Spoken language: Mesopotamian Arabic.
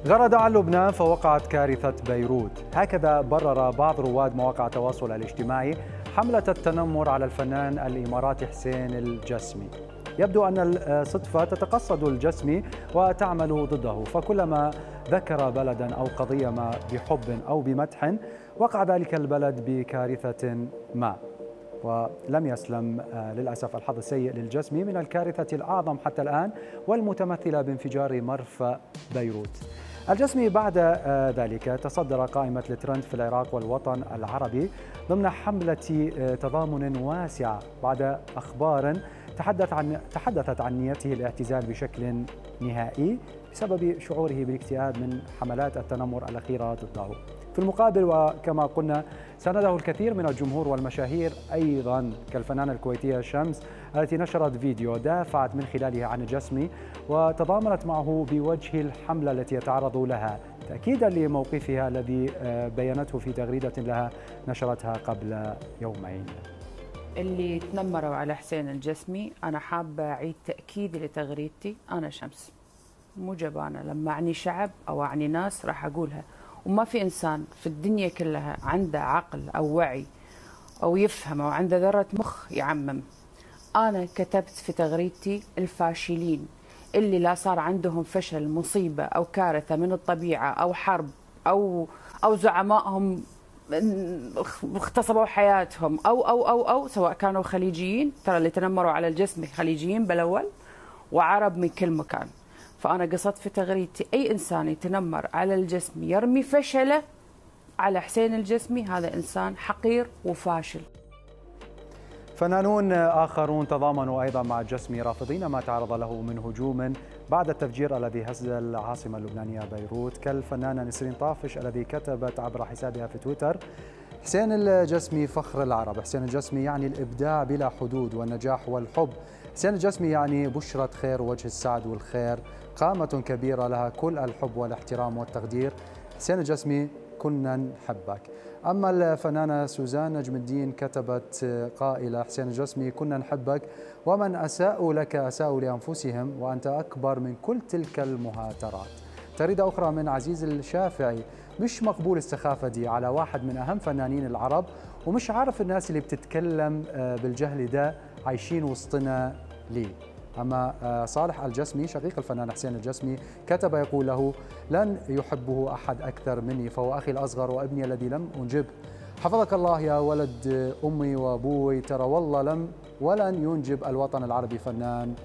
غرد عن لبنان فوقعت كارثة بيروت، هكذا برر بعض رواد مواقع التواصل الاجتماعي حملة التنمر على الفنان الإماراتي حسين الجسمي. يبدو أن الصدفة تتقصد الجسمي وتعمل ضده، فكلما ذكر بلدا أو قضية ما بحب أو بمدح وقع ذلك البلد بكارثة ما. ولم يسلم للأسف الحظ السيء للجسمي من الكارثة الأعظم حتى الآن والمتمثلة بانفجار مرفأ بيروت. الجسمي بعد ذلك تصدر قائمة الترند في العراق والوطن العربي ضمن حملة تضامن واسعة بعد أخبار تحدثت عن نيته الاعتزال بشكل نهائي بسبب شعوره بالاكتئاب من حملات التنمر الأخيرة ضده. في المقابل وكما قلنا سانده الكثير من الجمهور والمشاهير أيضا كالفنانة الكويتية شمس التي نشرت فيديو دافعت من خلاله عن الجسمي وتضامنت معه بوجه الحملة التي يتعرض لها تأكيدا لموقفها الذي بينته في تغريدة لها نشرتها قبل يومين. اللي تنمروا على حسين الجسمي أنا حابة أعيد تأكيدي لتغريدتي. أنا شمس مو جبانة، لما أعني شعب أو أعني ناس راح أقولها، وما في إنسان في الدنيا كلها عنده عقل أو وعي أو يفهم أو عنده ذرة مخ يعمم. أنا كتبت في تغريدتي الفاشلين اللي لا صار عندهم فشل، مصيبة أو كارثة من الطبيعة أو حرب أو زعمائهم اغتصبوا حياتهم أو سواء كانوا خليجيين، ترى اللي تنمروا على الجسمي خليجيين بالأول وعرب من كل مكان. فأنا قصدت في تغريدتي أي إنسان يتنمر على الجسمي يرمي فشله على حسين الجسمي هذا إنسان حقير وفاشل. فنانون آخرون تضامنوا أيضا مع الجسمي رافضين ما تعرض له من هجوم بعد التفجير الذي هز العاصمة اللبنانية بيروت، كالفنانة نسرين طافش الذي كتبت عبر حسابها في تويتر: حسين الجسمي فخر العرب، حسين الجسمي يعني الإبداع بلا حدود والنجاح والحب، حسين الجسمي يعني بشرة خير ووجه السعد والخير، قامة كبيرة لها كل الحب والاحترام والتقدير، حسين الجسمي كنا نحبك. أما الفنانة سوزان نجم الدين كتبت قائلة: حسين الجسمي كنا نحبك، ومن أساءوا لك أساءوا لأنفسهم وأنت أكبر من كل تلك المهاترات. تغريدة أخرى من عزيز الشافعي: مش مقبول السخافة دي على واحد من أهم فنانين العرب، ومش عارف الناس اللي بتتكلم بالجهل ده عايشين وسطنا ليه. أما صالح الجسمي شقيق الفنان حسين الجسمي كتب يقول له: لن يحبه أحد أكثر مني، فهو أخي الأصغر وابني الذي لم أنجبه. حفظك الله يا ولد أمي وأبوي، ترى والله ولن ينجب الوطن العربي فنان